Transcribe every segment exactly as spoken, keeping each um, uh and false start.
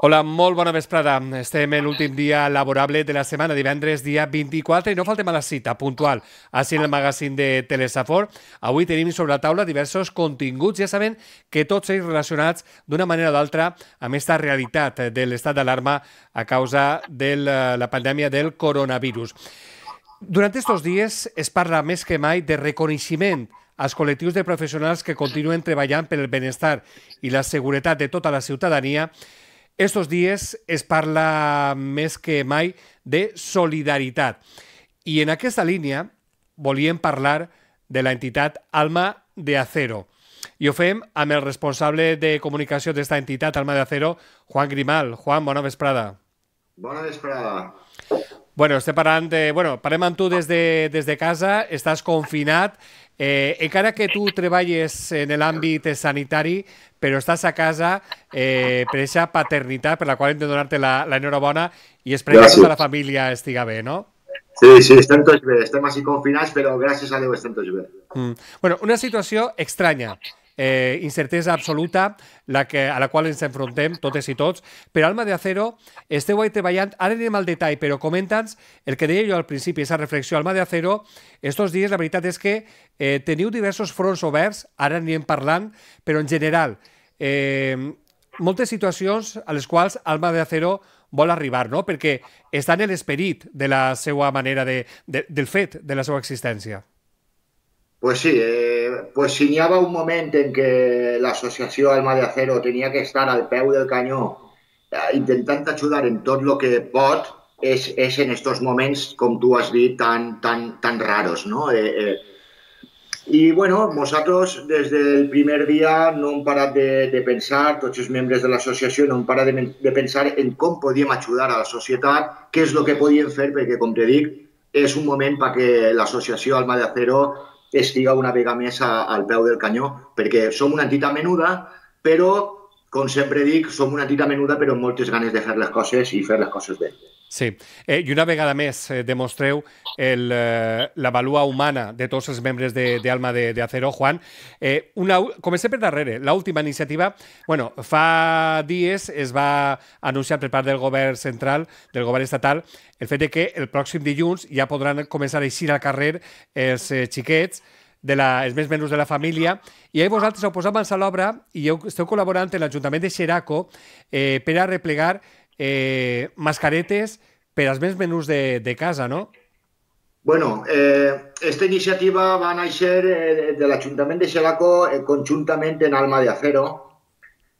Hola, molt bona vesprada. Estem en l'últim dia laborable de la setmana, divendres dia vint-i-quatre, i no faltem a la cita puntual, així en el magazín de Telesafor. Avui tenim sobre la taula diversos continguts, ja sabem que tots ells relacionats d'una manera o d'altra amb aquesta realitat de l'estat d'alarma a causa de la pandèmia del coronavirus. Durant aquests dies es parla més que mai de reconeixement als col·lectius de professionals que continuen treballant per el benestar i la seguretat de tota la ciutadania. Estos dies es parla més que mai de solidaritat. I en aquesta línia volíem parlar de l'entitat Alma de Acero. I ho fem amb el responsable de comunicació d'esta entitat, Alma de Acero, Juan Grimal. Juan, bona vesprada. Bona vesprada. Bueno, estem parlant de... Bueno, parlem amb tu des de, des de casa, estàs confinat, eh, encara que tu treballes en l'àmbit sanitari, però estàs a casa eh, per aquesta paternitat per la qual hem de donar-te l'enhorabona i esperem que tota la família estiga bé, no? Sí, sí, estem tots bé, estem així confinats, però gràcies a Déu estem tots bé. Mm. Bueno, una situació estranya. Eh, incertesa absoluta la que, a la qual ens enfrontem totes i tots, però Alma de Acero esteu ahí treballant, ara anem al detall, però comenta'ns el que deia jo al principi, aquesta reflexió. Alma de Acero, estos dies la veritat és que eh, teniu diversos fronts oberts, ara anirem parlant, però en general eh, moltes situacions a les quals Alma de Acero vol arribar, no? Perquè està en l'esperit de la seva manera de, de, del fet de la seva existència. Pues sí, eh, pues si n'hi havia un moment en què l'associació Alma de Acero tenia que estar al peu del canyó eh, intentant ajudar en tot el que pot, és, és en estos moments, com tu has dit, tan, tan, tan raros, no? Eh, eh, I, bueno, nosaltres des del primer dia no hem parat de, de pensar, tots els membres de l'associació no hem parat de, de pensar en com podíem ajudar a la societat, què és el que podíem fer, perquè, com te dic, és un moment perquè l'associació Alma de Acero estiga una vegada més a, al peu del canyó, perquè som una entitat menuda, però, com sempre dic, som una entitat menuda però amb moltes ganes de fer les coses i fer les coses bé. Sí, eh, i una vegada més eh, demostreu el, eh, la valua humana de tots els membres d'Alma de, de, de Acero, Juan. Eh, una, comencem per darrere. L'última iniciativa, bueno, fa dies es va anunciar per part del govern central, del govern estatal, el fet de que el pròxim dilluns ja podran començar a eixir al carrer els eh, xiquets, de la, els més menys de la família, i ahir vosaltres heu posat mans a l'obra i heu, esteu col·laborant amb l'Ajuntament de Xeraco eh, per a replegar eh, mascaretes per als més menús de, de casa, no? Bueno, eh, esta iniciativa va néixer eh, de l'Ajuntament de Xeraco eh, conjuntament en Alma de Acero.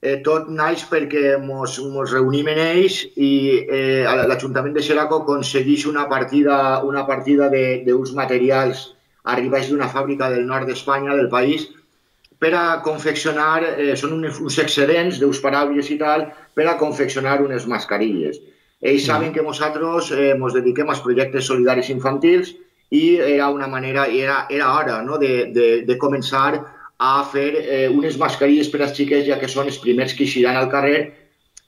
Eh, tot naix perquè ens reunim en ells i eh, l'Ajuntament de Xeraco aconsegueix una partida, una partida d'uns materials arribats d'una fàbrica del nord d'Espanya, del país, per a confeccionar, eh, són uns, uns excedents d'uns paraules i tal, per a confeccionar unes mascarilles. Ells saben que nosaltres eh, ens dediquem als projectes solidaris infantils i era una manera, era, era hora, no?, de, de, de començar a fer eh, unes mascarilles per als xiquets, ja que són els primers que eixiran al carrer,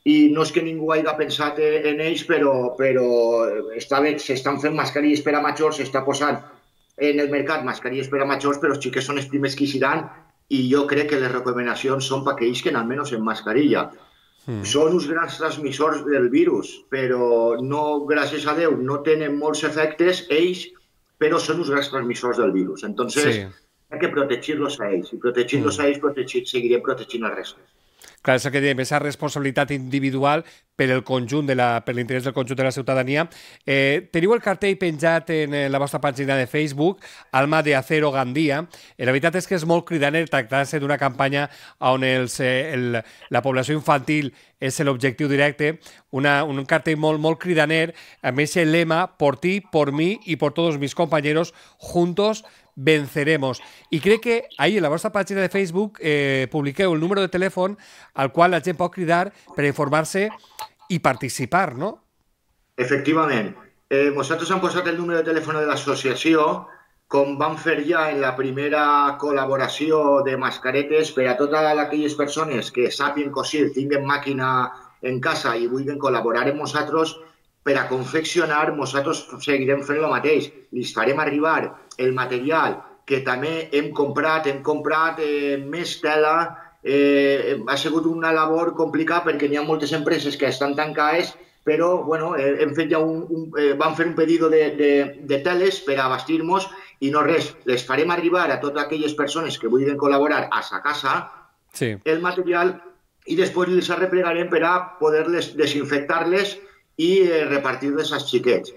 i no és que ningú hagi pensat en ells, però, però s'estan fent mascarilles per a majors, s'està posant en el mercat mascarilles per a majors, però els xiquets són els primers que eixiran i jo crec que les recomanacions són perquè isquen almenys en mascarilla. Mm. Són uns grans transmissors del virus, però no, gràcies a Déu, no tenen molts efectes ells, però són uns grans transmissors del virus. Entonces, sí, hay que protegir-los a ells, i protegir-los mm. a ells protegir, seguirem protegint el resto. Clar, és el que diem, aquesta responsabilitat individual per el conjunt, de la, per l'interès del conjunt de la ciutadania. Eh, teniu el cartell penjat en la vostra pàgina de Facebook, Alma de Acero Gandia. Eh, la veritat és que és molt cridaner tractar-se d'una campanya on els, eh, el, la població infantil és l'objectiu directe, una, un cartell molt, molt cridaner, amb aquest lema, por ti, por mí y por todos mis compañeros, juntos venceremos. I crec que ahir en la vostra pàgina de Facebook eh, publiqueu el número de telèfon al qual la gent pot cridar per informar-se i participar, no? Efectivament. Eh, nosaltres hem posat el número de telèfon de l'associació, com vam fer ja en la primera col·laboració de mascaretes per a totes aquelles persones que sàpien cosir, tinguen màquina en casa i vulguin col·laborar amb nosaltres per a confeccionar. Nosaltres seguirem fent el mateix. Li farem arribar el material que també hem comprat, hem comprat eh, més tela Eh, ha sigut una labor complicada perquè n'hi ha moltes empreses que estan tancades, però bueno, eh, hem fet ja un, un, eh, vam fer un pedido de, de, de teles per abastir-nos i no res, les farem arribar a totes aquelles persones que vulguin col·laborar a sa casa sí. el material i després les arreplegarem per a poder-les desinfectar-les i eh, repartir-les als xiquets.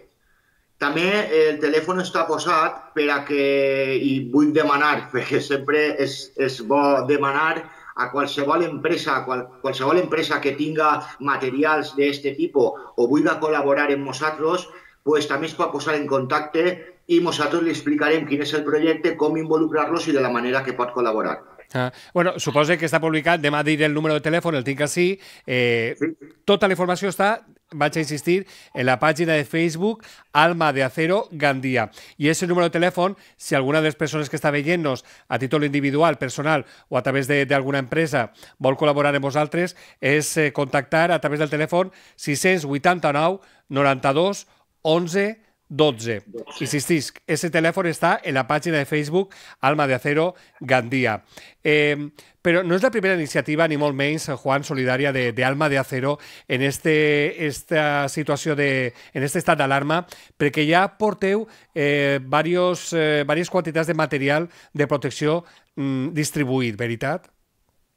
També el telèfon està posat per a que, i vull demanar, perquè sempre és, és bo demanar a qualsevol empresa, a qual, qualsevol empresa que tinga materials d'aquest tipus o vulgui col·laborar amb nosaltres, pues, també es pot posar en contacte i nosaltres li explicarem quin és el projecte, com involucrar-los i de la manera que pot col·laborar. Ah, bueno, suposo que està publicat, demà diré el número de telèfon, el tinc així. Eh, sí. Tota la informació està, vaig a insistir, en la pàgina de Facebook Alma de Acero Gandia. I ese número de telèfon, si alguna de les persones que està veient-nos a títol individual, personal o a través d'alguna empresa vol col·laborar amb vosaltres, és eh, contactar a través del telèfon sis vuitanta-nou noranta-dos onze dotze. Insistisc, ese telèfon està en la pàgina de Facebook Alma de Acero Gandia. Eh, però no és la primera iniciativa, ni molt menys, Juan, solidària de, de Alma de Acero en este, esta situació, de, en este estat d'alarma, perquè ja porteu eh, varios, eh, varias quantitats de material de protecció mm, distribuït, veritat?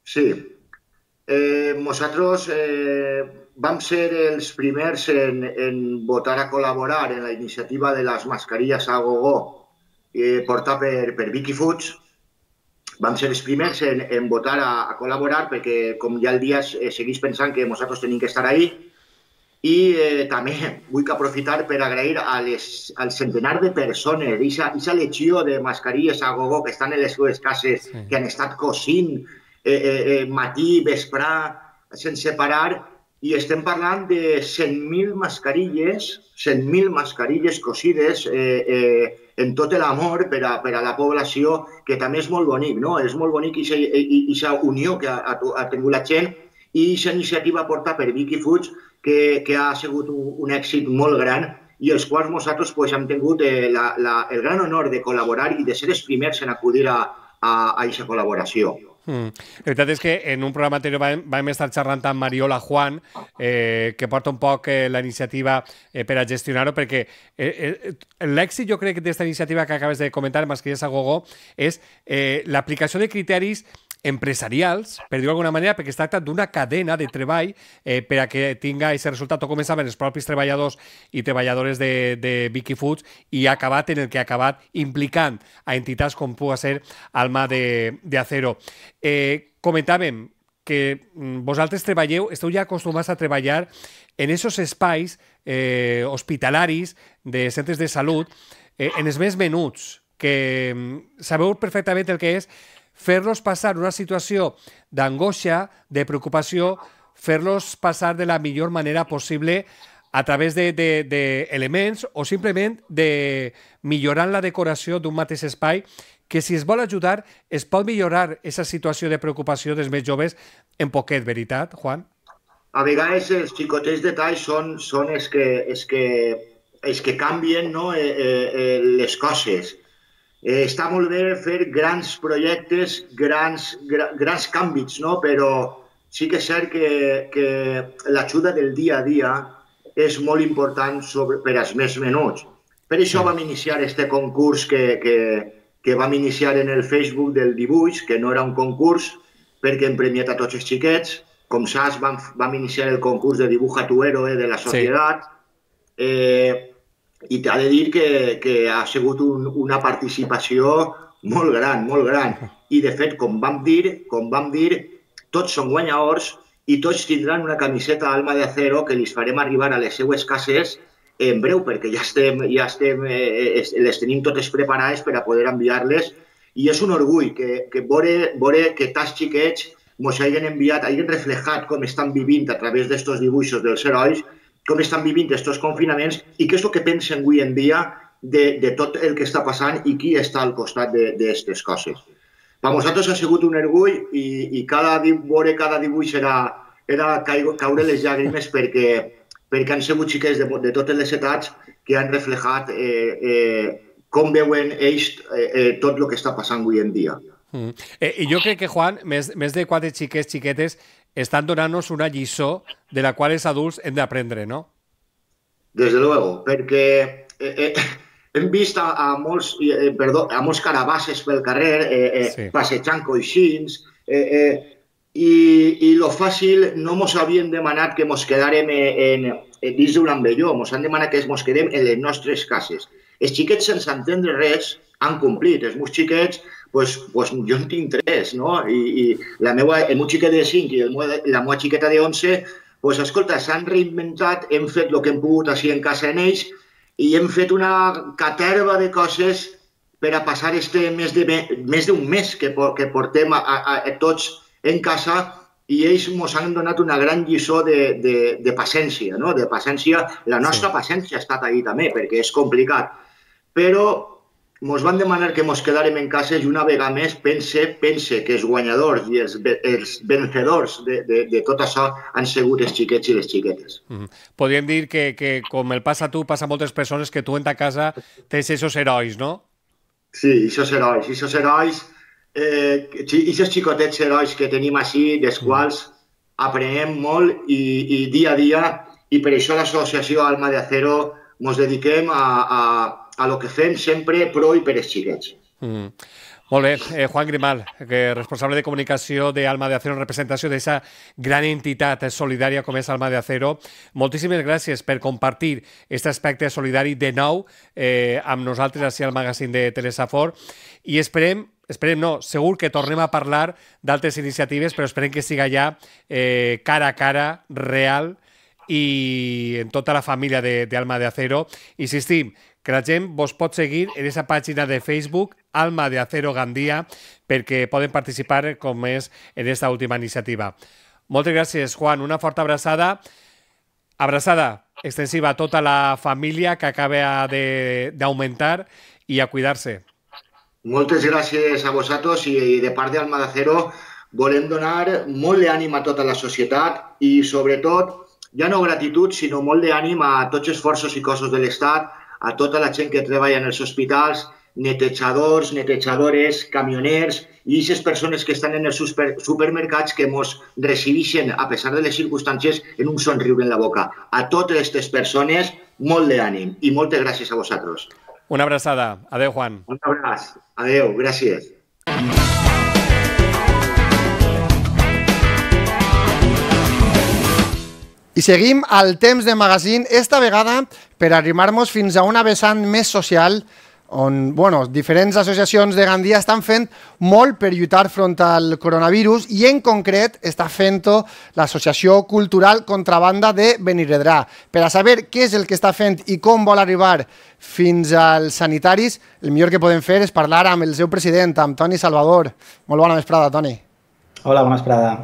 Sí. Eh, nosaltres eh, vam ser els primers en, en votar a col·laborar en la iniciativa de les mascarilles a gogo eh, portada per, per Vicky Foods. Vam ser els primers en, en votar a, a col·laborar perquè, com ja el dia eh, segueix pensant que nosaltres tenim que estar ahí. I eh, també vull aprofitar per agrair a les, al centenar de persones, aquesta legió de mascarilles a gogo que estan en les seves cases, sí, que han estat cosint eh, eh, matí, vesprà, sense parar, i estem parlant de cent mil mascarilles, cent mil mascarilles cosides eh, eh, en tot l'amor per a, per a la població, que també és molt bonic, no? És molt bonic aquesta unió que ha, ha tingut la gent i aquesta iniciativa portada per Vicky Foods, que, que ha sigut un, un èxit molt gran i els quals nosaltres pues, hem tingut eh, la, la, el gran honor de col·laborar i de ser els primers en acudir a aquesta col·laboració. Mm. La veritat és que en un programa anterior vam, vam estar xerrant amb Mariola Juan, eh, que porta un poc eh, la iniciativa eh, per a gestionar-ho, perquè eh, eh, l'èxit, jo crec, d'aquesta iniciativa que acabes de comentar, Mascarilles a Gogo, és eh, l'aplicació de criteris empresarials, per dir-ho d'alguna manera, perquè es tracta d'una cadena de treball eh, per a que tinga aquest resultat. O començaven els propis treballadors i treballadores de, de Vicky Foods i ha acabat en el que ha acabat implicant a entitats com pugui ser Alma de, de Acero. Eh, comentàvem que vosaltres treballeu, esteu ja acostumats a treballar en aquests espais eh, hospitalaris de centres de salut, eh, en els més menuts, que sabeu perfectament el que és fer-los passar una situació d'angoixa, de preocupació, fer-los passar de la millor manera possible a través d'elements o simplement de millorant la decoració d'un mateix espai, que si es vol ajudar es pot millorar aquesta situació de preocupació dels més joves en poquet, veritat, Juan? A vegades els xicotets detalls són, són els, que, els, que, els que canvien, no? eh, eh, les coses. Eh, està molt bé fer grans projectes, grans, gra, grans canvis, no? Però sí que és cert que, que l'ajuda del dia a dia és molt important sobre, per als més menuts. Per això vam iniciar este concurs que, que, que vam iniciar en el Facebook del dibuix, que no era un concurs perquè hem premiat a tots els xiquets. Com saps, vam, vam iniciar el concurs de Dibuja tu héroe de la societat. Sí. Eh, I t'ha de dir que, que ha sigut un, una participació molt gran, molt gran. I, de fet, com vam dir, com vam dir, tots són guanyadors i tots tindran una camiseta Alma de Acero que els farem arribar a les seues cases en breu, perquè ja estem, ja estem, eh, les tenim totes preparades per a poder enviar-les. I és un orgull que, que veure, veure que tants xiquets ens hagin enviat, hagin reflejat com estan vivint a través d'aquests dibuixos dels herois, com estan vivint aquests confinaments i què és el que pensen avui en dia de, de tot el que està passant i qui està al costat d'aquestes coses. Per nosaltres ha sigut un orgull i, i cada, veure cada dibuix era, era caure les llàgrimes perquè, perquè han sigut xiquets de, de totes les edats que han reflejat eh, eh, com veuen ells eh, eh, tot el que està passant avui en dia. Mm. Eh, I jo crec que, Juan, més, més de quatre xiquets, xiquetes, estan donant-nos una lliçó de la qual els adults hem d'aprendre, no? Desde luego, perquè eh, eh, hem vist a, a, molts, eh, perdó, a molts carabasses pel carrer eh, eh, sí. passejant coixins, eh, eh, i, i lo fàcil no mos havien demanat que mos quedàrem en, en, dins d'un ambelló, mos han demanat que mos quedem en les nostres cases. Els xiquets, sense entendre res, han complit. Els meus xiquets, pues, pues, jo en tinc tres, no? I, i la meua, el meu xiquet de cinc i el meu, la meva xiqueta de onze, pues, escolta, s'han reinventat, hem fet el que hem pogut així en casa en ells i hem fet una caterva de coses per a passar este més de més d'un mes que, que portem a, a, a tots en casa, i ells ens han donat una gran lliçó de, de, de paciència, no? De paciència. La nostra sí. paciència ha estat ahí també, perquè és complicat. Però ens van demanar que ens quedàrem en casa i una vegada més pense, pense que els guanyadors i els, els vencedors de, de, de tot això han sigut els xiquets i les xiquetes. Mm. Podríem dir que, que com el passa a tu, passa a moltes persones, que tu en ta casa tens aquests herois, no? Sí, aquests herois, aquests herois, eh, aquests xicotets herois que tenim així, dels quals aprenem molt i, i dia a dia, i per això l'associació Alma de Acero ens dediquem a, a a lo que fem sempre pro i per els xiquets. Mm. Molt bé. Eh, Juan Grimal, que responsable de comunicació d'Alma de Acero en representació d'aquesta gran entitat solidària com és Alma de Acero. Moltíssimes gràcies per compartir aquest aspecte solidari de nou eh, amb nosaltres així al magazín de Telesafor, i esperem Esperem, no, segur que tornem a parlar d'altres iniciatives, però esperem que siga ja eh, cara a cara, real, i en tota la família d'Alma de, de Acero. Insistim, que la gent vos pot seguir en aquesta pàgina de Facebook, Alma de Acero Gandia, perquè poden participar, com és, en aquesta última iniciativa. Moltes gràcies, Juan. Una forta abraçada. Abraçada extensiva a tota la família que acaba d'augmentar, i a cuidar-se. Moltes gràcies a vosaltres, i de part d'Alma de Acero volem donar molt d'ànim a tota la societat i, sobretot, ja no gratitud, sinó molt d'ànim a tots els forços i cossos de l'Estat, a tota la gent que treballa en els hospitals, netejadors, netejadores, camioners i aquestes persones que estan en els super, supermercats que ens recibeixen, a pesar de les circumstàncies, en un somriure en la boca. A totes aquestes persones, molt d'ànim i moltes gràcies a vosaltres. Una abraçada. Adéu, Juan. Un abraç. Adéu. Gràcies. I seguim al temps de magazín, esta vegada per arrimar-nos fins a una vessant més social, on bueno, diferents associacions de Gandia estan fent molt per lluitar front al coronavirus, i en concret està fent-ho l'Associació Cultural Contrabanda de Benirredrà. Per a saber què és el que està fent i com vol arribar fins als sanitaris, el millor que podem fer és parlar amb el seu president, amb Toni Salvador. Molt bona vesprada, Toni. Hola, bona vesprada.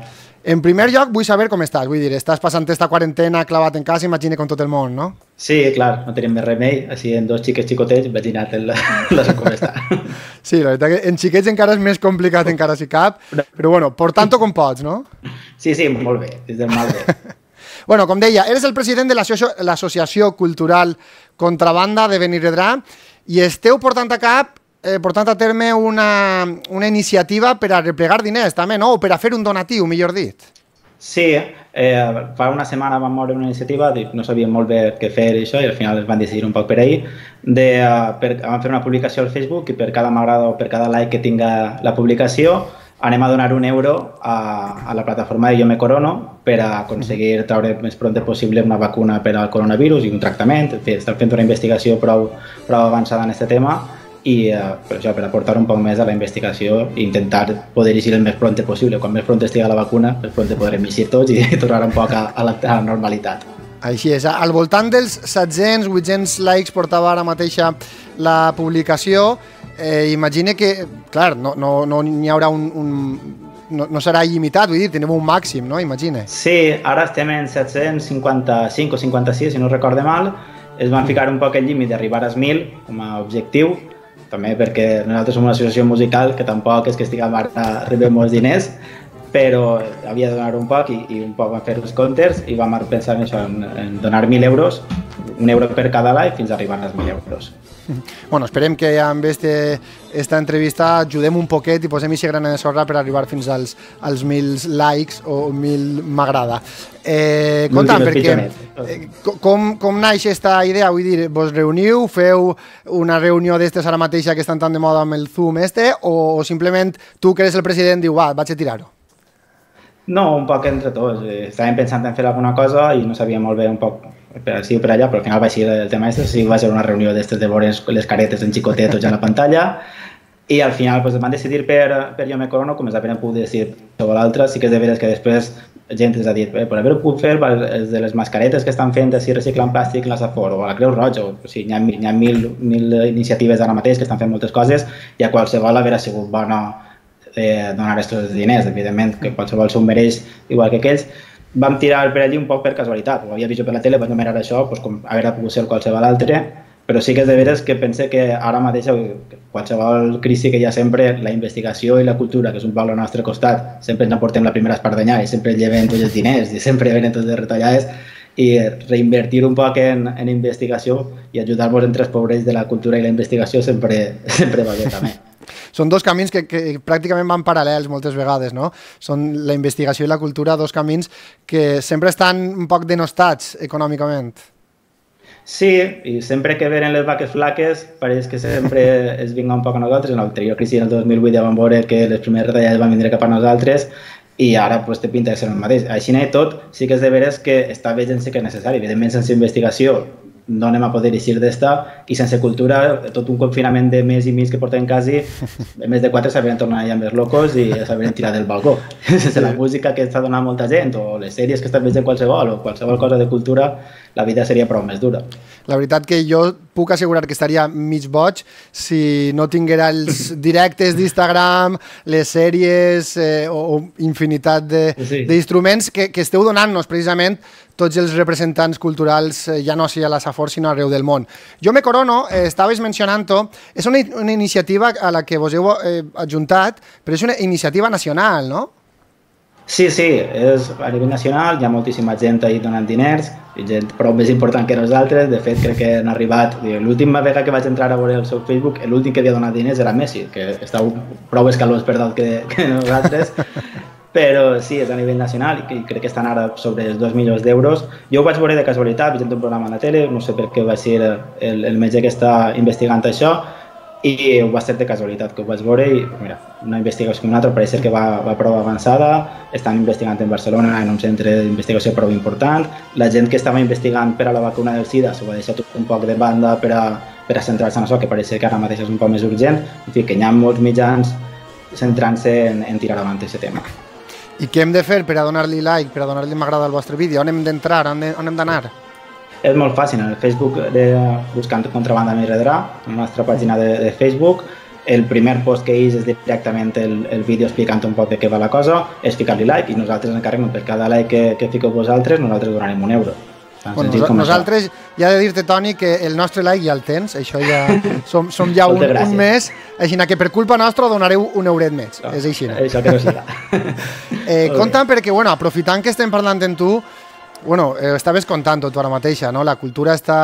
En primer lloc, vull saber com estàs. Vull dir, estàs passant esta quarantena clavat en casa, imagina, com tot el món, no? Sí, clar, no tenim més remei. Així, en dos xiquets xicotets, imagina't la, la com està. Sí, la veritat que en xiquets encara és més complicat, encara si cap, però bueno, portant-ho com pots, no? Sí, sí, molt bé, des del mal bé. Bueno, com deia, eres el president de l'Associació Cultural Contrabanda de Benirredrà i esteu portant a cap Eh, portant a terme una, una iniciativa per a replegar diners, també, no? O per a fer un donatiu, millor dit. Sí, eh, fa una setmana vam moure una iniciativa, no sabíem molt bé què fer i això, i al final es van decidir un poc per ahir. De, per, vam fer una publicació al Facebook, i per cada m'agrada o per cada like que tinga la publicació anem a donar un euro a, a la plataforma de Yo Me Corono per a aconseguir treure més pront possible una vacuna per al coronavirus i un tractament. Estem fent una investigació prou, prou avançada en aquest tema, i uh, per això, per aportar un poc més a la investigació i intentar poder eixir el més pront possible. Quan més pront estigui la vacuna, més pront podrem eixir tots i tornar un poc a, a, la, a la normalitat. Així és. Al voltant dels set-cents vuit-cents likes portava ara mateixa la publicació. Eh, imagine que, clar, no, no, no hi haurà un... un no, no serà il·limitat, vull dir, tenim un màxim, no? Imagine. Sí, ara estem en set-cents cinquanta-cinc o cinquanta-sis, si no recorde mal. Es van ficar un poc el límit d'arribar als mil com a objectiu, també perquè nosaltres som una associació musical que tampoc és que estiguem a rebre molts diners, però havia de donar un poc i, i un poc vam fer els comptes i vam pensar en això, en, en donar mil euros, un euro per cada live fins a arribar als mil euros. Bueno, esperem que amb este, esta entrevista ajudem un poquet i posem ixe grana de sorra per arribar fins als, als mil likes o mil m'agrada. Eh, Compta'm, perquè eh, com, com naix esta idea? Vull dir, vos reuniu, feu una reunió d'estes ara mateixa que estan tan de moda amb el Zoom este, o, o simplement tu que eres el president diu, va, vaig a tirar-ho? No, un poc entre tots. Estàvem pensant en fer alguna cosa i no sabia molt bé un poc per així o per allà, però al final va ser el tema este, sí, va ser una reunió d'estes de veure les caretes en xicotet tots a la pantalla, i al final pues, van decidir per, per Jo Me Corono, com es havien pogut decidir sobre l'altre. Sí que és de veres que després gent ens ha dit, eh, per haver-ho pogut fer és de les mascaretes que estan fent així reciclant plàstic la Safor o a la Creu Roja, o, o sigui, hi ha, hi ha mil, mil iniciatives ara mateix que estan fent moltes coses i a qualsevol haver sigut bona eh, donar aquests diners, evidentment que qualsevol s'ho mereix igual que aquells. Vam tirar per allí un poc per casualitat, ho havia vist per la tele, vaig mirar això, doncs, com haver pogut ser qualsevol altre, però sí que és de veres que pense que ara mateix qualsevol crisi que hi ha sempre, la investigació i la cultura, que és un poc al nostre costat, sempre ens aportem la primera espardenya i sempre lleven tots els diners i sempre venen tots les retallades, i reinvertir un poc en, en investigació i ajudar-vos entre els pobrets de la cultura i la investigació sempre, sempre va bé també. Són dos camins que, que pràcticament van paral·lels moltes vegades, no? Són la investigació i la cultura, dos camins que sempre estan un poc denostats econòmicament. Sí, i sempre que venen les vaques flaques pareix que sempre es vinga un poc a nosaltres. En l'anterior crisi, el dos mil vuit, ja vam veure que les primeres retallades van vindre cap a nosaltres i ara pues, té pinta de ser el mateix. Així i tot, sí que és de veres que està bé gent sí que és necessari. Evidentment, sense investigació no anem a poder eixir d'esta, i sense cultura, tot un confinament de mes i mig que portem quasi, en més de quatre s'havien tornat ja més locos i s'havien tirat del balcó. Sense la música que està donant molta gent, o les sèries que estan veient qualsevol, o qualsevol cosa de cultura, la vida seria prou més dura. La veritat que jo puc assegurar que estaria mig boig si no tinguera els directes d'Instagram, les sèries eh, o infinitat d'instruments que, que esteu donant-nos precisament tots els representants culturals, eh, ja no sigui a la Safor, sinó arreu del món. Jo Me Corono, eh, estaves mencionant-ho, és una, una iniciativa a la que vos heu eh, adjuntat, però és una iniciativa nacional, no? Sí, sí, és a nivell nacional, hi ha moltíssima gent ahí donant diners, gent prou més important que nosaltres. De fet, crec que han arribat, l'última vegada que vaig entrar a veure el seu Facebook, l'últim que havia donat diners era Messi, que estava prou escalós per dalt que, que nosaltres, però sí, és a nivell nacional i crec que estan ara sobre els dos milions d'euros. Jo ho vaig veure de casualitat, vaig entrar un programa a la tele, no sé per què va ser el, el metge que està investigant això, i ho va ser de casualitat que ho vaig veure i mira, una investigació com una altra pareix que va, va prou avançada. Estan investigant en Barcelona en un centre d'investigació prou important. La gent que estava investigant per a la vacuna del SIDA s'ho va deixar tot un poc de banda per a, per a centrar-se en això, que pareix que ara mateix és un poc més urgent. En fi, que hi ha molts mitjans centrant-se en, en tirar avant aquest tema. I què hem de fer per a donar-li like, per a donar-li m'agrada al vostre vídeo? On hem d'entrar? On hem d'anar? És molt fàcil, en el Facebook de, buscant Contrabanda Més Redrà, en la nostra pàgina de, de Facebook, el primer post que és és directament el, el vídeo explicant un poc de què va la cosa, és ficar-li like i nosaltres ens encarreguem per cada like que, que fiqueu vosaltres, nosaltres donarem un euro. Bueno, nos, nosaltres, ja he de dir-te, Toni, que el nostre like ja el tens, això ja som, som ja un, un mes, així que per culpa nostra donareu un euret més, no, és així. Això que no siga. eh, Compta'm perquè, bueno, aprofitant que estem parlant amb tu, bueno, eh, estaves contant-ho tu ara mateixa, no? La cultura està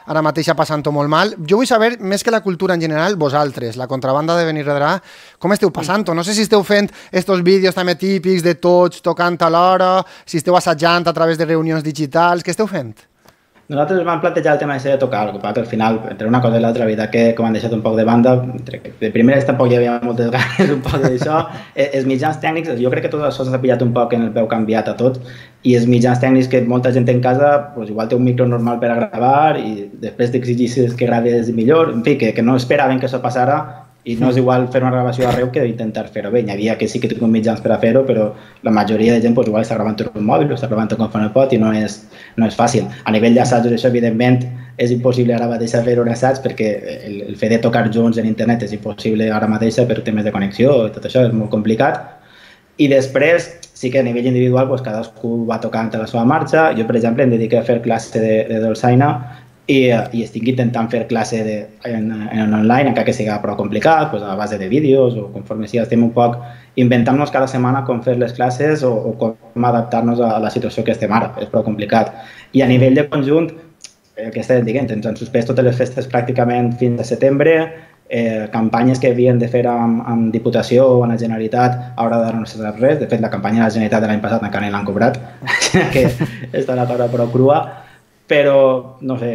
ara mateixa passant-ho molt mal. Jo vull saber, més que la cultura en general, vosaltres, la Contrabanda de Benirredrà, com esteu passant-ho? No sé si esteu fent estos vídeos també típics de tots tocant a l'hora, si esteu assajant a través de reunions digitals, què esteu fent? Nosaltres vam plantejar el tema de tocar, el que al final, entre una cosa i l'altra, la veritat que com han deixat un poc de banda, de primeres tampoc hi havia moltes ganes un poc d'això. Els mitjans tècnics, jo crec que tot això s'ha pillat un poc en el peu canviat a tot, i els mitjans tècnics que molta gent en casa, pues, igual té un micro normal per a gravar i després t'exigis que graves millor, en fi, que, que no esperaven que això passara. I no és igual fer una gravació arreu que intentar fer-ho bé. Hi havia que sí que tinc mitjans per a fer-ho, però la majoria de gent pues, igual està gravant un mòbil o està gravant com fa no pot i no és, no és fàcil. A nivell d'assajos, això evidentment és impossible ara mateix fer un assaig perquè el, el fet de tocar junts en internet és impossible ara mateix per temes de connexió i tot això és molt complicat. I després sí que a nivell individual pues, cadascú va tocant a la seva marxa. Jo, per exemple, em dediqué a fer classe de, de dolçaina i, i estic intentant fer classe de, en, en online, encara que sigui prou complicat, pues a base de vídeos o conforme sigui, estem un poc inventant-nos cada setmana com fer les classes o, o com adaptar-nos a la situació que estem ara, és prou complicat. I a nivell de conjunt, el que estàvem dient, ens han suspès totes les festes pràcticament fins a setembre, eh, campanyes que havien de fer amb, amb Diputació o amb la Generalitat, ara d'ara no s'ha sap res. De fet, la campanya de la Generalitat de l'any passat encara no l'han cobrat, que està la cosa prou crua, però, no sé,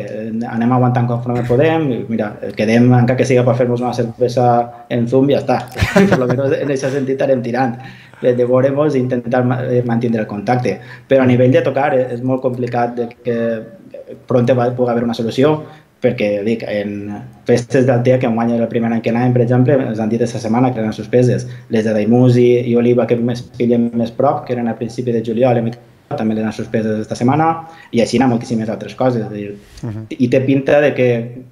anem aguantant conforme podem, i mira, quedem, encara que siga per fer-nos una cervesa en Zoom, ja està. Per lo menos en aquest sentit anem tirant. De veure-nos i intentar mantenir el contacte. Però a nivell de tocar és molt complicat de que pront pugui haver una solució, perquè, dic, en festes d'Altea, que enguany era el primer any que anàvem, per exemple, ens han dit aquesta setmana que eren suspeses. Les de Daimús i, i Oliva, que més pillen més prop, que eren a principi de juliol, també les han suspeses aquesta setmana, i així hi ha moltíssimes altres coses. Dir, uh -huh. I té pinta de que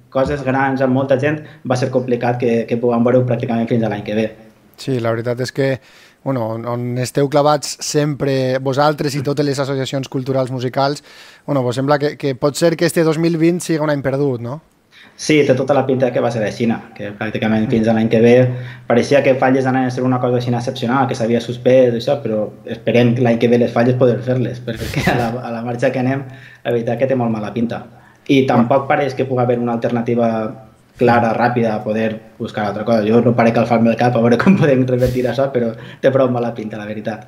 coses grans amb molta gent va ser complicat que, que puguem veure pràcticament fins a l'any que ve. Sí, la veritat és que bueno, on esteu clavats sempre vosaltres i totes les associacions culturals musicals, bueno, pues sembla que, que pot ser que este dos mil vint sigui un any perdut, no? Sí, té tota la pinta que va ser a Xina, que pràcticament fins a l'any que ve pareixia que falles anaven a ser una cosa així excepcional, que s'havia suspès, això, però esperem que l'any que ve les falles poder fer-les, perquè a la, a la marxa que anem, la veritat que té molt mala pinta. I tampoc pareix que pugui haver una alternativa clara, ràpida, a poder buscar altra cosa. Jo no parec calfar-me el cap a veure com podem revertir això, però té prou mala pinta, la veritat.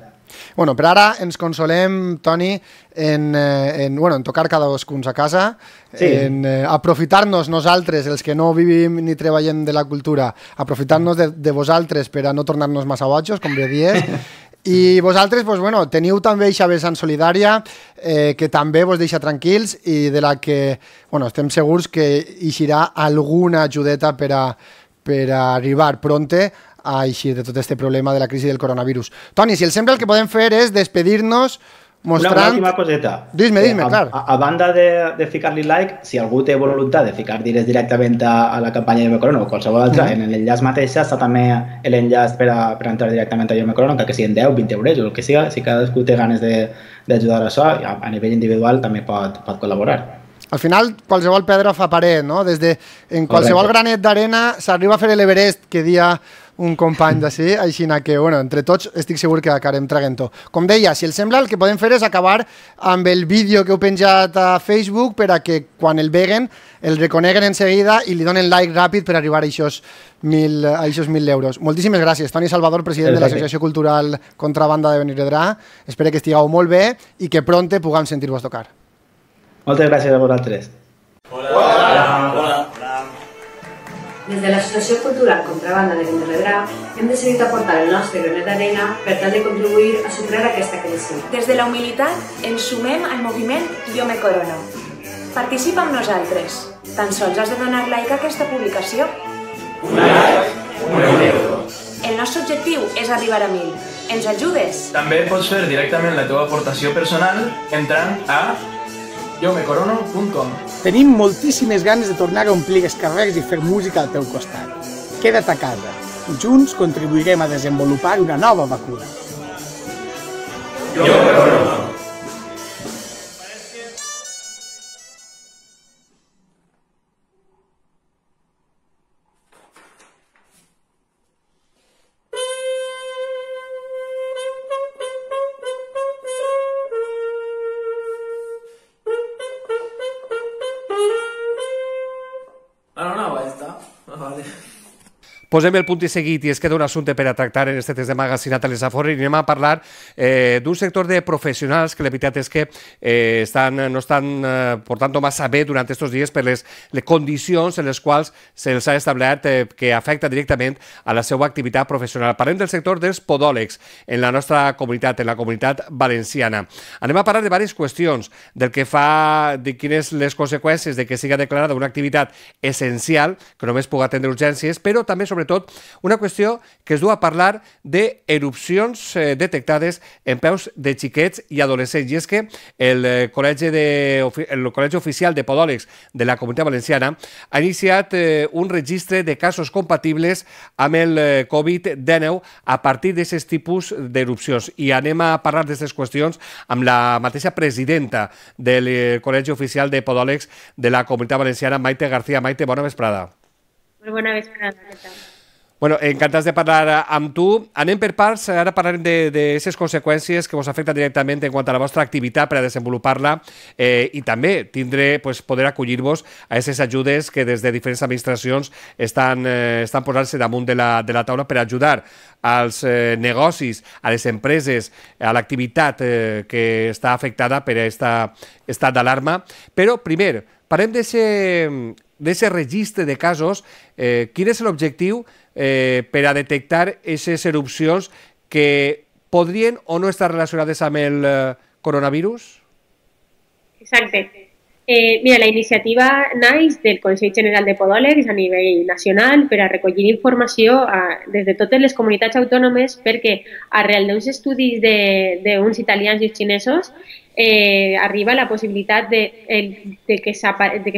Bueno, per ara ens consolem, Toni, en, en, bueno, en tocar cadascuns a casa, sí. en eh, aprofitar-nos nosaltres, els que no vivim ni treballem de la cultura, aprofitar-nos de, de vosaltres per a no tornar-nos massa bojos, com bé dies, i vosaltres pues, bueno, teniu també aquesta vessant solidària eh, que també vos deixa tranquils i de la que bueno, estem segurs que eixirà alguna ajudeta per a, per a arribar pronte a eixir de tot este problema de la crisi del coronavirus. Toni, si el sembla el que podem fer és despedir-nos mostrant... Una última coseta. Dime, dime, eh, a, clar. A, a banda de, de ficar-li like, si algú té voluntat de ficar diners directament a, a la campanya de Yo Me Corono o qualsevol altra, mm. en l'enllaç mateix està també l'enllaç per, a, per a entrar directament a Yo Me Corono, que siguin deu, vint euros o el que siga. Si cadascú té ganes d'ajudar a això, a, a nivell individual també pot, pot col·laborar. Al final, qualsevol pedra fa paret, no? Des de, en qualsevol Correcte. Granet d'arena s'arriba a fer l'Everest, que dia un company d'ací, així que, bueno, entre tots estic segur que acabarem traguent-ho. Com deia, si el sembla, el que podem fer és acabar amb el vídeo que heu penjat a Facebook per a que quan el veguen el reconeguen en seguida i li donen like ràpid per arribar a aquests mil, a aquests mil euros. Moltíssimes gràcies, Toni Salvador, president Perfecte. De l'Associació Cultural Contrabanda de Benirredrà. Espero que estigueu molt bé i que pronte puguem sentir-vos tocar. Moltes gràcies a vosaltres. Hola. Hola. Hola. Des de l'Associació Cultural Contrabanda de Benirredrà hem decidit aportar el nostre granet d'arena per tal de contribuir a superar aquesta crisi. Des de la humilitat ens sumem al moviment Yo Me Corono. Participa amb nosaltres. Tan sols has de donar like a aquesta publicació. Un like, un euro. El nostre objectiu és arribar a mil. Ens ajudes? També pots fer directament la teva aportació personal entrant a yo me corono punt com. Tenim moltíssimes ganes de tornar a omplir els carrers i fer música al teu costat. Queda't a casa. Junts contribuirem a desenvolupar una nova vacuna. Yo me corono. Posem el punt i seguit i es queda un assumpte per a tractar en este test de magazine a Telesafort i anem a parlar eh, d'un sector de professionals que la veritat és que eh, estan, no estan eh, portant massa bé durant aquests dies per les, les condicions en les quals se'ls ha establert eh, que afecta directament a la seva activitat professional. Parlem del sector dels podòlegs en la nostra comunitat, en la comunitat valenciana. Anem a parlar de diverses qüestions, del que fa, de quines les conseqüències de que siga declarada una activitat essencial, que només pugui atendre urgències, però també, sobretot, una qüestió que es du a parlar d'erupcions eh, detectades en peus de xiquets i adolescents. I és que el eh, Col·legi, de, el Col·legi Oficial de Podòlegs de la Comunitat Valenciana ha iniciat eh, un registre de casos compatibles amb el eh, covid dinou a partir d'aquests tipus d'erupcions. I anem a parlar d'aquestes qüestions amb la mateixa presidenta del eh, Col·legi Oficial de Podòlegs de la Comunitat Valenciana, Maite García. Maite, bona vesprada. Molt bona vesprada, què tal? Bueno, encantats de parlar amb tu. Anem per parts, ara parlarem d'aquestes conseqüències que us afecten directament en quant a la vostra activitat per a desenvolupar-la eh, i també tindré pues, poder acollir-vos a aquestes ajudes que des de diferents administracions estan, eh, estan posant-se damunt de la, de la taula per ajudar als eh, negocis, a les empreses, a l'activitat eh, que està afectada per aquest estat d'alarma. Però, primer, parlem d'aquest registre de casos. Eh, quin és l'objectiu eh, per a detectar aquestes erupcions que podrien o no estar relacionades amb el eh, coronavirus? Exacte. Eh, mira, la iniciativa naix del Consell General de Podòlegs a nivell nacional per a recollir informació a, des de totes les comunitats autònomes perquè arrel d'uns estudis d'uns italians i xinesos eh, arriba la possibilitat de, el, de que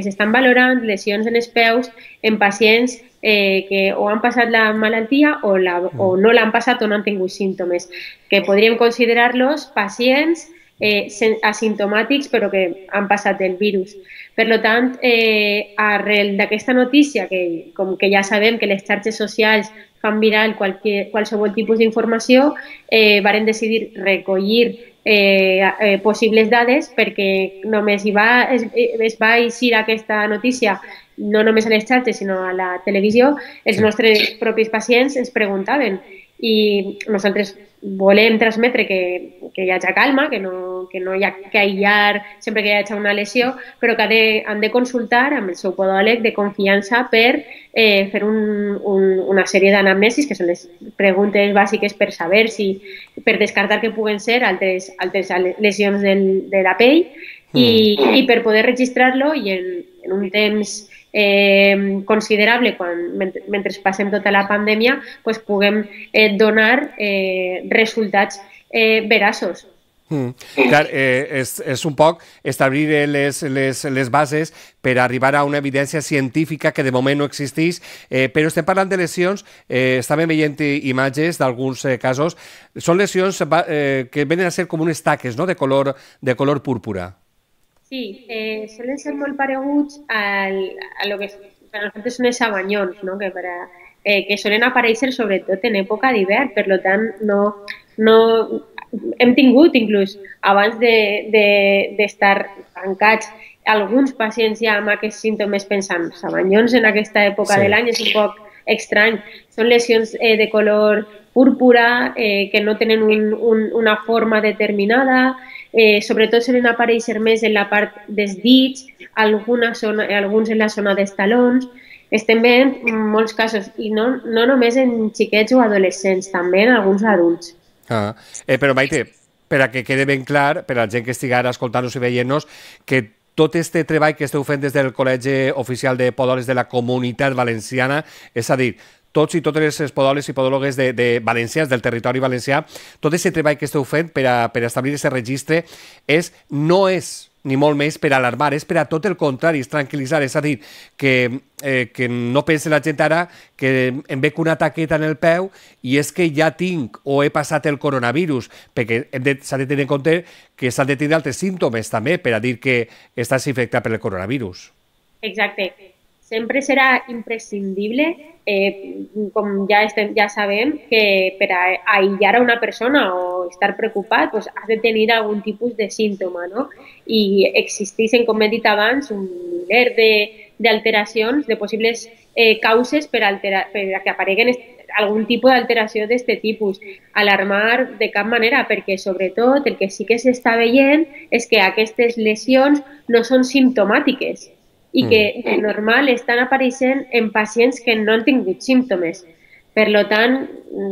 s'estan valorant lesions en els peus en pacients eh, que o han passat la malaltia o, la, o no l'han passat o no han tingut símptomes, que podríem considerar-los pacients Eh, asimptomàtics però que han passat el virus. Per tant, eh, arrel d'aquesta notícia, que com que ja sabem que les xarxes socials fan viral qualque, qualsevol tipus d'informació, eh, varen decidir recollir eh, eh, possibles dades perquè només hi va, es, es va eixir aquesta notícia no només a les xarxes sinó a la televisió. Els nostres propis pacients ens preguntaven i nosaltres volem transmetre que, que hi hagi calma, que no, que no hi ha que aïllar sempre que hi hagi una lesió, però que de, han de consultar amb el seu podòleg de confiança per eh, fer un, un, una sèrie d'anamnesis, que són les preguntes bàsiques per saber si, per descartar que puguen ser altres, altres lesions del, de la pell i, mm. i per poder registrar-lo i en, en un temps Eh, considerable quan, mentre, mentre passem tota la pandèmia, pues, puguem eh, donar eh, resultats eh, veraços. Mm. Clar, eh, és, és un poc establir les, les, les bases per arribar a una evidència científica que de moment no existeix, eh, però estem parlant de lesions, eh, estàvem veient imatges d'alguns eh, casos, són lesions eh, que venen a ser com unes taques, no?, de color, de color púrpura. Sí, eh, solen ser molt pareguts al, a lo que per nosaltres són els abanyons, no? que, per a, eh, que solen aparèixer sobretot en època d'hivern, per tant no, no, hem tingut inclús abans d'estar de, de, tancats alguns pacients ja amb aquests símptomes pensant abanyons en aquesta època sí. de l'any és un poc estrany, són lesions eh, de color púrpura eh, que no tenen un, un, una forma determinada. Eh, sobretot solen aparèixer més en la part dels dits, zona, alguns en la zona dels talons. Estem veient molts casos, i no, no només en xiquets o adolescents, també en alguns adults. Ah, eh, però Maite, per a que quede ben clar, per a la gent que estigui ara escoltant-nos i veient-nos, que tot este treball que esteu fent des del Col·legi Oficial de Podòlegs de la Comunitat Valenciana, és a dir, tots i totes les podòlegs i podòlogues de, de valencians, del territori valencià, tot aquest treball que esteu fent per a, per a establir aquest registre és, no és ni molt més per alarmar, és per a tot el contrari, és tranquil·litzar, és a dir, que, eh, que no pense la gent ara que em veig una taqueta en el peu i és que ja tinc o he passat el coronavirus, perquè s'ha de tenir en compte que s'han de tenir altres símptomes també per a dir que estàs infectat per el coronavirus. Exacte. Sempre serà imprescindible, eh, com ja, estem, ja sabem, que per a aïllar a una persona o estar preocupat pues, has de tenir algun tipus de símptoma, no? I existeixen, com he dit abans, un miler d'alteracions, de, de possibles eh, causes per, altera, per a que apareguen algun tipus d'alteració d'aquest tipus. Alarmar de cap manera, perquè sobretot el que sí que s'està veient és que aquestes lesions no són simptomàtiques i que de normal estan apareixent en pacients que no han tingut símptomes. Per tant,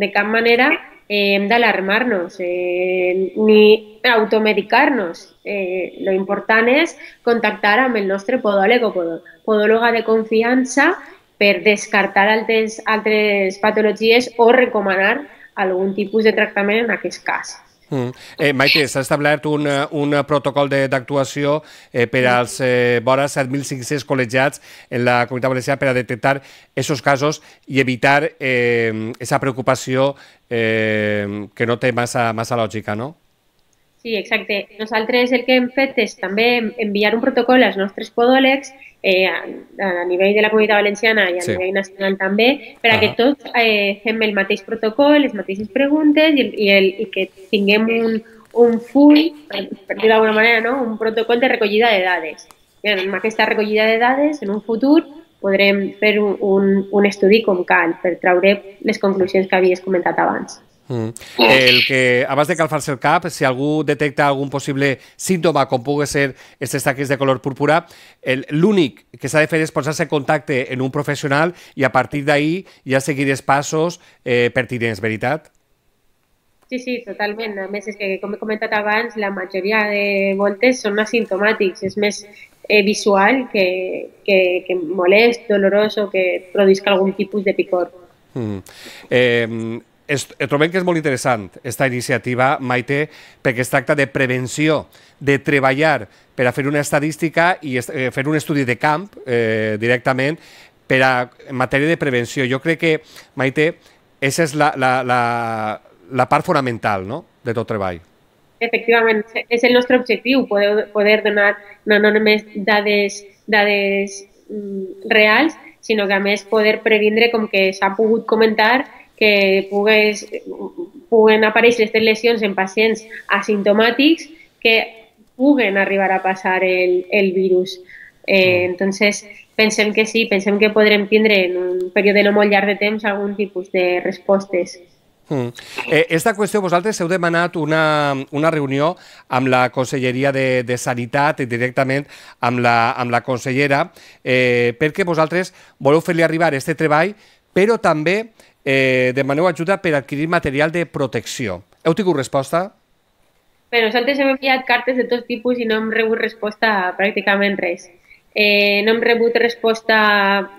de cap manera eh, hem d'alarmar-nos eh, ni automedicar-nos. Eh, lo important és contactar amb el nostre podòleg o podòloga de confiança per descartar altres, altres patologies o recomanar algun tipus de tractament en aquest cas. Mm. Eh, Maite, s'ha establert un, un protocol d'actuació eh, per als eh, vora set mil cinc-cents col·legiats en la Comunitat Valenciana per a detectar aquests casos i evitar aquesta eh, preocupació eh, que no té massa, massa lògica, no? Sí, exacte. Nosaltres el que hem fet és també enviar un protocol als nostres podòlegs eh, a, a nivell de la Comunitat Valenciana i a Sí. nivell nacional també, per a que Ahà. tots eh, fem el mateix protocol, les mateixes preguntes i, el- i, el, i que tinguem un, un full, per, per dir d'alguna manera, no? Un protocol de recollida de dades. I amb aquesta recollida de dades, en un futur, podrem fer un, un, un estudi com cal per traure les conclusions que havies comentat abans. Mm. El que, abans de calfar-se el cap, si algú detecta algun possible símptoma, com pugui ser aquestes taques de color púrpura, el- l'únic que s'ha de fer és posar-se en contacte en un professional i a partir d'ahí ja seguir els passos eh, pertinents, veritat? Sí, sí, totalment. A més, és que, com he comentat abans, la majoria de voltes són asimptomàtics. És més eh, visual que, que, que molest, dolorós o que produisca algun tipus de picor. Mm. Eh, es, trobem que és molt interessant aquesta iniciativa, Maite, perquè es tracta de prevenció, de treballar per a fer una estadística i est eh, fer un estudi de camp eh, directament per a, en matèria de prevenció. Jo crec que, Maite, aquesta és la, la, la, la part fonamental, no?, de tot treball. Efectivament, és el nostre objectiu, poder, poder donar no només dades, dades mm, reals, sinó que a més poder previndre, com que s'ha pogut comentar, que pugues, puguen aparèixer aquestes lesions en pacients asimptomàtics que puguen arribar a passar el, el virus. Eh, entonces, pensem que sí, pensem que podrem tindre en un període no molt llarg de temps algun tipus de respostes. Mm. Eh, esta qüestió, vosaltres heu demanat una, una reunió amb la Conselleria de, de Sanitat i directament amb la, amb la consellera, eh, perquè vosaltres voleu fer-li arribar aquest treball, però també eh, demaneu ajuda per adquirir material de protecció. Heu tingut resposta? Bé, nosaltres hem enviat cartes de tot tipus i no hem rebut resposta a pràcticament res. Eh, no hem rebut resposta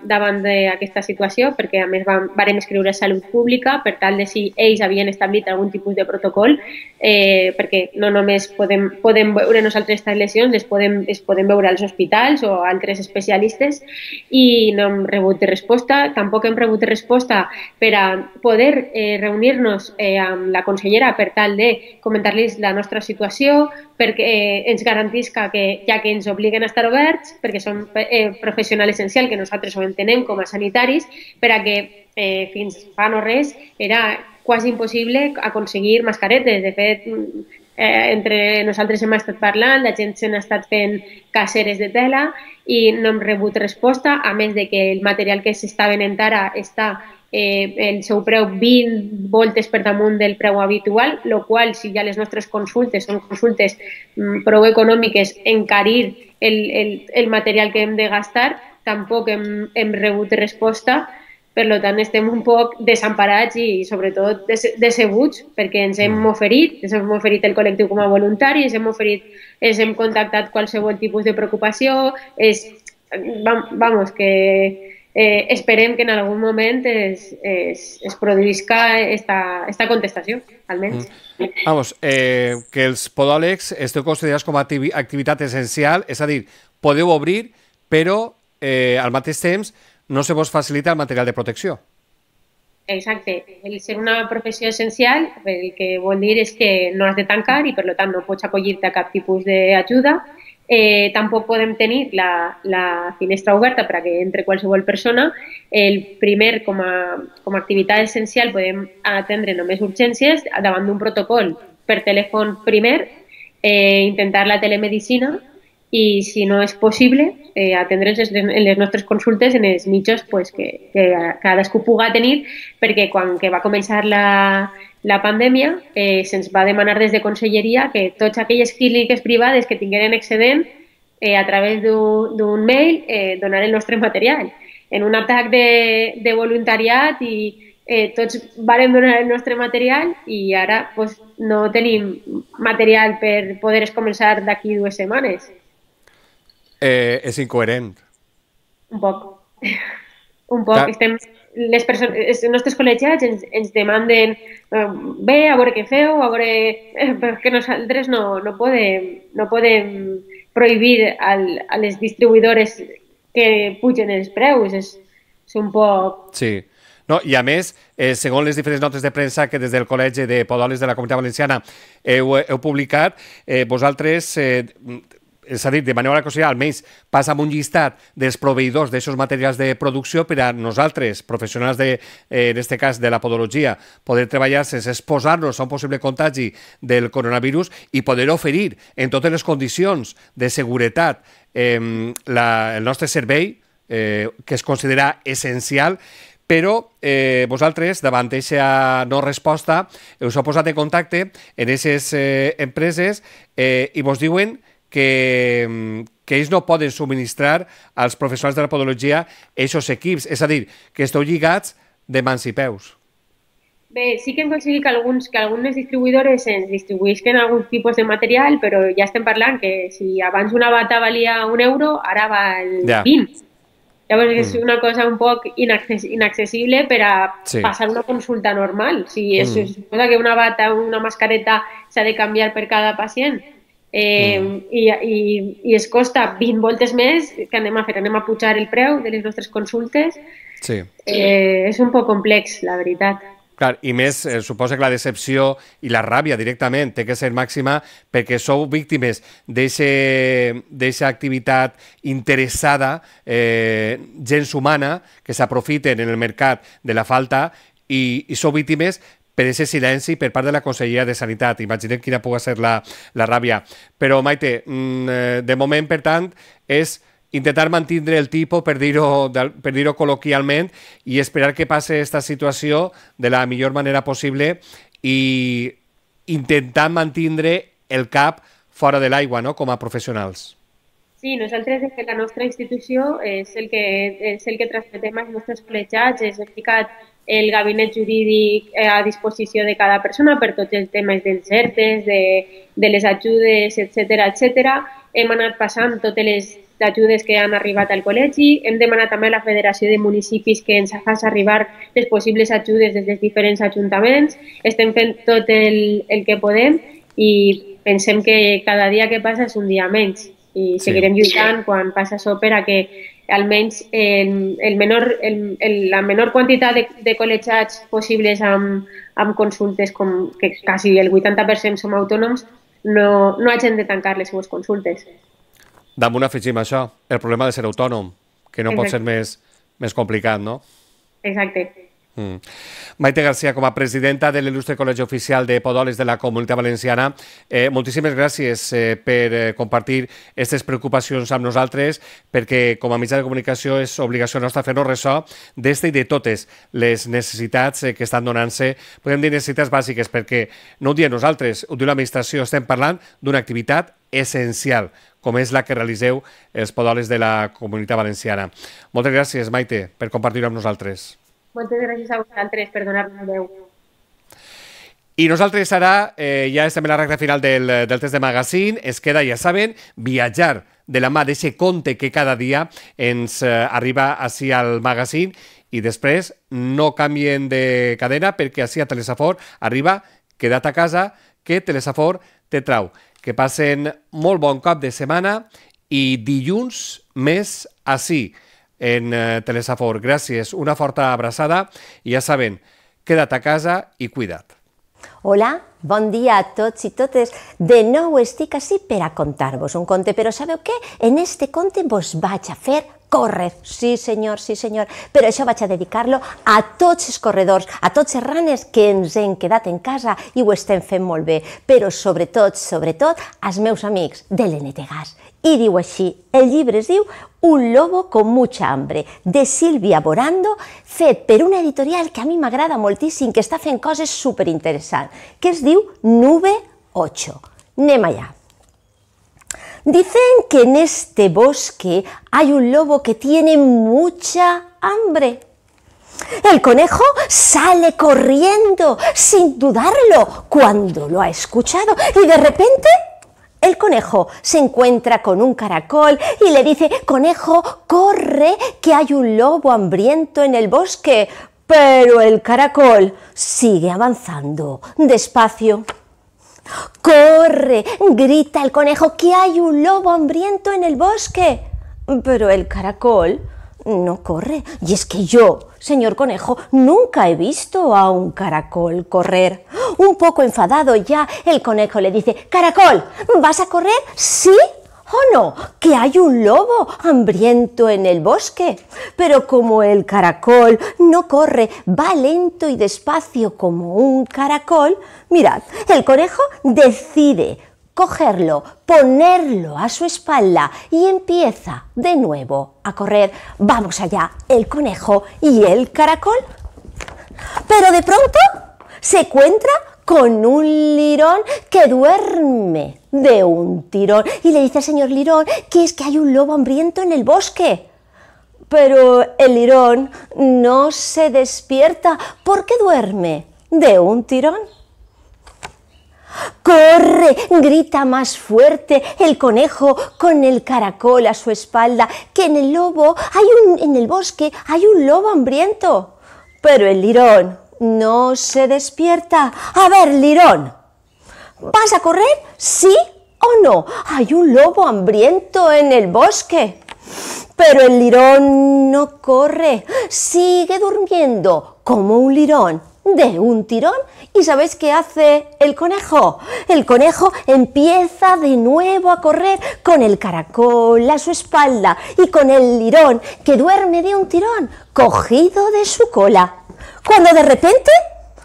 davant d'aquesta situació perquè a més vam, vam escriure a Salut Pública per tal de si ells havien establit algun tipus de protocol eh, perquè no només podem, podem veure nosaltres aquestes lesions, les podem, les podem veure als hospitals o altres especialistes i no hem rebut resposta. Tampoc hem rebut resposta per a poder eh, reunir-nos eh, amb la consellera per tal de comentar-los la nostra situació, perquè eh, ens garantisca que ja que ens obliguen a estar oberts, perquè som eh, professional essencial, que nosaltres ho entenem com a sanitaris, per a que eh, fins fa no res era quasi impossible aconseguir mascaretes. De fet, eh, entre nosaltres hem estat parlant, la gent se n'ha estat fent caseres de tela i no hem rebut resposta, a més de que el material que s'està venent ara està eh, el seu preu vint voltes per damunt del preu habitual, el qual, si ja les nostres consultes són consultes mm, prou econòmiques, encarir el, el, el material que hem de gastar, tampoc hem, hem rebut resposta. Per tant, estem un poc desemparats i, sobretot, decebuts perquè ens hem oferit, ens hem oferit el col·lectiu com a voluntaris, ens hem oferit, ens hem contactat qualsevol tipus de preocupació, és, vamos, que eh, esperem que en algun moment es, es, es produïsca esta, esta contestació, almenys. Mm. Vamos, eh, que els podòlegs esteu considerats com a activitat essencial, és a dir, podeu obrir, però eh, al mateix temps no se vos facilita el material de protecció. Exacte. El ser una professió essencial el que vol dir és que no has de tancar i, per tant, no pots acollir-te a cap tipus d'ajuda. Eh, tampoc podem tenir la, la finestra oberta per a que entre qualsevol persona. El primer, com a, com a activitat essencial, podem atendre només urgències davant d'un protocol per telèfon primer, eh, intentar la telemedicina i, si no és possible, eh, atendre's en les nostres consultes en els mitjos pues, que, que cadascú puga tenir, perquè quan que va començar la, la pandèmia eh, se'ns va demanar des de Conselleria que totes aquelles clíniques privades que tingueren excedent eh, a través d'un mail eh, donar el nostre material. En un atac de, de voluntariat i eh, tots vàrem donar el nostre material i ara pues, no tenim material per poder començar d'aquí dues setmanes. Eh, és incoherent. Un poc. Un poc. Clar. Estem, les persones, els nostres col·legiats ens, ens demanden eh, bé, a veure què feu, a veure... Eh, perquè nosaltres no, no, podem, no podem prohibir al, a les distribuïdores que pugen els preus. És, és un poc... Sí. No, i a més, eh, segons les diferents notes de premsa que des del Col·legi de Podòlegs de la Comunitat Valenciana heu, heu publicat, eh, vosaltres, eh, és a dir, de manera consellera, almenys passa amb un llistat dels proveïdors d'aquests materials de producció per a nosaltres, professionals, de, eh, en aquest cas de la podologia, poder treballar sense exposar-nos a un possible contagi del coronavirus i poder oferir en totes les condicions de seguretat eh, la, el nostre servei, eh, que es considera essencial, però eh, vosaltres, davant d'aquesta no resposta, us heu posat en contacte en aquestes eh, empreses eh, i vos diuen que, que ells no poden subministrar als professionals de la podologia aquests equips, és a dir, que esteu lligats de mans i peus. Bé, sí que hem aconseguit que, alguns, que algunes distribuïdores ens distribuïsquen algun tipus de material, però ja estem parlant que si abans una bata valia un euro, ara val ja. vint. Llavors mm. és una cosa un poc inaccessible per a sí. passar una consulta normal. Si es mm. suposa que una bata o una mascareta s'ha de canviar per cada pacient, Eh, mm. i, i, i es costa vint voltes més, que anem a fer? Anem a pujar el preu de les nostres consultes? Sí. Eh, és un poc complex, la veritat. Clar, i més, eh, suposa que la decepció i la ràbia directament té que ser màxima perquè sou víctimes d'aquesta activitat interessada, eh, gens humana, que s'aprofiten en el mercat de la falta i, i sou víctimes per aquest silenci per part de la Conselleria de Sanitat. Imaginem quina pugui ser la, la ràbia. Però, Maite, de moment, per tant, és intentar mantindre el tipus, per dir-ho per dir-ho col·loquialment, i esperar que passi aquesta situació de la millor manera possible i intentar mantindre el cap fora de l'aigua, no?, com a professionals. Sí, nosaltres des de la nostra institució és el que, és el que transmetem als nostres col·legiats, és ficat el gabinet jurídic a disposició de cada persona per tots els temes dels E R T Es, de, de les ajudes, etcètera, etcètera. Hem anat passant totes les ajudes que han arribat al col·legi, hem demanat també a la Federació de Municipis que ens faci arribar les possibles ajudes des dels diferents ajuntaments, estem fent tot el, el que podem i pensem que cada dia que passa és un dia menys i seguirem sí. lluitant quan passa això per a que almenys el, el menor, el, el, la menor quantitat de, de col·legiats possibles amb, amb consultes, com que quasi el vuitanta per cent som autònoms, no, no hagin de tancar les seues consultes. Damunt afegim això, el problema de ser autònom, que no Exacte. pot ser més, més complicat, no? Exacte. Mm. Maite García, com a presidenta de l'il·lustre Col·legi Oficial de Podòlegs de la Comunitat Valenciana, eh, moltíssimes gràcies eh, per eh, compartir aquestes preocupacions amb nosaltres, perquè com a mitjà de comunicació és obligació nostra fer-nos ressò d'esta i de totes les necessitats eh, que estan donant-se, podem dir necessitats bàsiques, perquè no ho diem nosaltres, ho diu l'administració, estem parlant d'una activitat essencial, com és la que realiseu els podòlegs de la Comunitat Valenciana. Moltes gràcies, Maite, per compartir-ho amb nosaltres. Moltes gràcies a vosaltres per donar-nos veu. I nosaltres ara, eh, ja estem en la recta final del, del test de magazine, es queda, ja saben, viatjar de la mà d'aquest conte que cada dia ens eh, arriba així al magazine i després no canvien de cadena perquè així a Telesafor arriba Queda't a casa, que Telesafor te trau. Que passen molt bon cap de setmana i dilluns més així en eh, Telesafor. Gràcies, una forta abraçada i ja saben, queda't a casa i cuida't. Hola, bon dia a tots i totes. De nou estic ací per a contar-vos un conte, però sabeu què? En este conte vos vaig a fer córrer. Sí, senyor, sí, senyor. Però això vaig a dedicar-lo a tots els corredors, a tots els runners que ens hem quedat en casa i ho estem fent molt bé. Però sobretot, sobretot, als meus amics de l'N T Gas. I diu així, el llibre es diu Un lobo con mucha hambre, de Sílvia Borando, fet per una editorial que a mi m'agrada moltíssim, que està fent coses superinteressants, que es diu Nube ocho. Anem allà. Dicen que en este bosque hay un lobo que tiene mucha hambre. El conejo sale corriendo, sin dudarlo, cuando lo ha escuchado, y de repente el conejo se encuentra con un caracol y le dice: «Conejo, corre, que hay un lobo hambriento en el bosque». Pero el caracol sigue avanzando despacio. «Corre», grita el conejo, «que hay un lobo hambriento en el bosque». Pero el caracol no corre. Y es que yo, señor conejo, nunca he visto a un caracol correr. Un poco enfadado ya, el conejo le dice, caracol, ¿vas a correr? ¿Sí o no? Que hay un lobo hambriento en el bosque. Pero como el caracol no corre, va lento y despacio como un caracol, mirad, el conejo decide cogerlo, ponerlo a su espalda y empieza de nuevo a correr. Vamos allá, el conejo y el caracol. Pero de pronto se encuentra con un lirón que duerme de un tirón y le dice al señor lirón que es que hay un lobo hambriento en el bosque. Pero el lirón no se despierta porque duerme de un tirón. ¡Corre! Grita más fuerte el conejo con el caracol a su espalda, que en el lobo hay un, en el bosque hay un lobo hambriento. Pero el lirón no se despierta. A ver, lirón, ¿vas a correr? ¿Sí o no? Hay un lobo hambriento en el bosque. Pero el lirón no corre, sigue durmiendo como un lirón de un tirón. ¿Y sabéis qué hace el conejo? El conejo empieza de nuevo a correr con el caracol a su espalda y con el lirón que duerme de un tirón cogido de su cola. Cuando de repente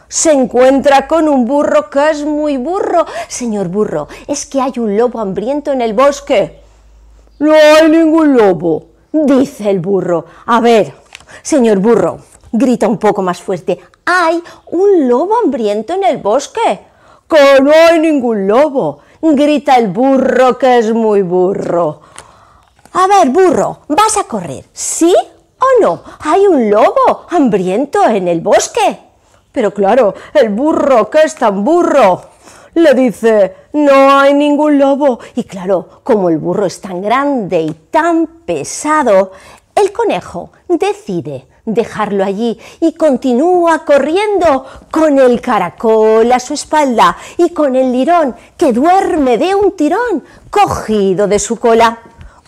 se encuentra con un burro que es muy burro. Señor burro, es que hay un lobo hambriento en el bosque. No hay ningún lobo, dice el burro. A ver, señor burro, grita un poco más fuerte. ¿Hay un lobo hambriento en el bosque? Que no hay ningún lobo, grita el burro que es muy burro. A ver, burro, ¿vas a correr? ¿Sí o no? ¿Hay un lobo hambriento en el bosque? Pero claro, el burro que es tan burro le dice, no hay ningún lobo. Y claro, como el burro es tan grande y tan pesado, el conejo decide dejarlo allí y continúa corriendo con el caracol a su espalda y con el lirón que duerme de un tirón cogido de su cola.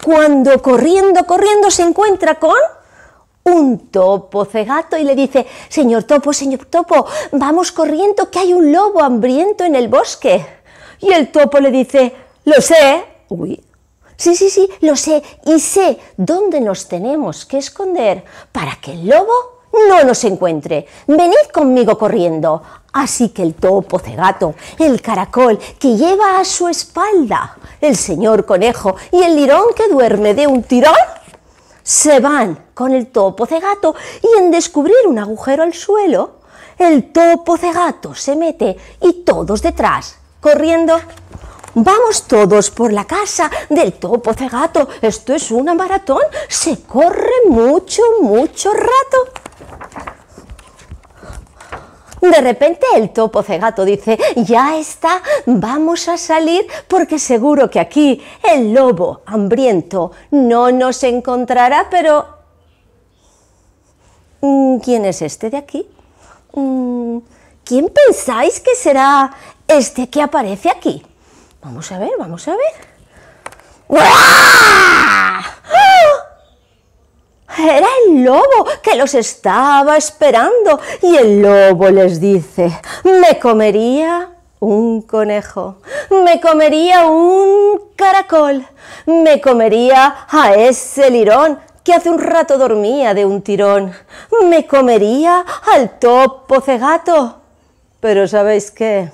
Cuando corriendo, corriendo se encuentra con un topo cegato y le dice, señor topo, señor topo, vamos corriendo que hay un lobo hambriento en el bosque. Y el topo le dice, lo sé, uy, sí, sí, sí, lo sé, y sé dónde nos tenemos que esconder para que el lobo no nos encuentre. Venid conmigo corriendo. Así que el topo cegato, el caracol que lleva a su espalda el señor conejo y el lirón que duerme de un tirón, se van con el topo cegato y en descubrir un agujero al suelo, el topo cegato se mete y todos detrás, corriendo. Vamos todos por la casa del topo cegato. Esto es una maratón. Se corre mucho, mucho rato. De repente el topo cegato dice, ya está, vamos a salir porque seguro que aquí el lobo hambriento no nos encontrará, pero ¿quién es este de aquí? ¿Quién pensáis que será este que aparece aquí? Vamos a ver, vamos a ver. ¡Uah! Era el lobo que los estaba esperando y el lobo les dice, me comería un conejo, me comería un caracol, me comería a ese lirón que hace un rato dormía de un tirón, me comería al topo cegato. Pero ¿sabéis qué?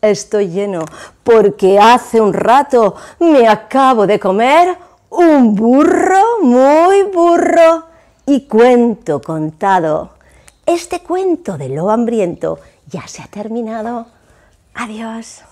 Estoy lleno porque hace un rato me acabo de comer un burro muy burro. Y cuento contado. Este cuento del lobo hambriento ya se ha terminado. Adiós.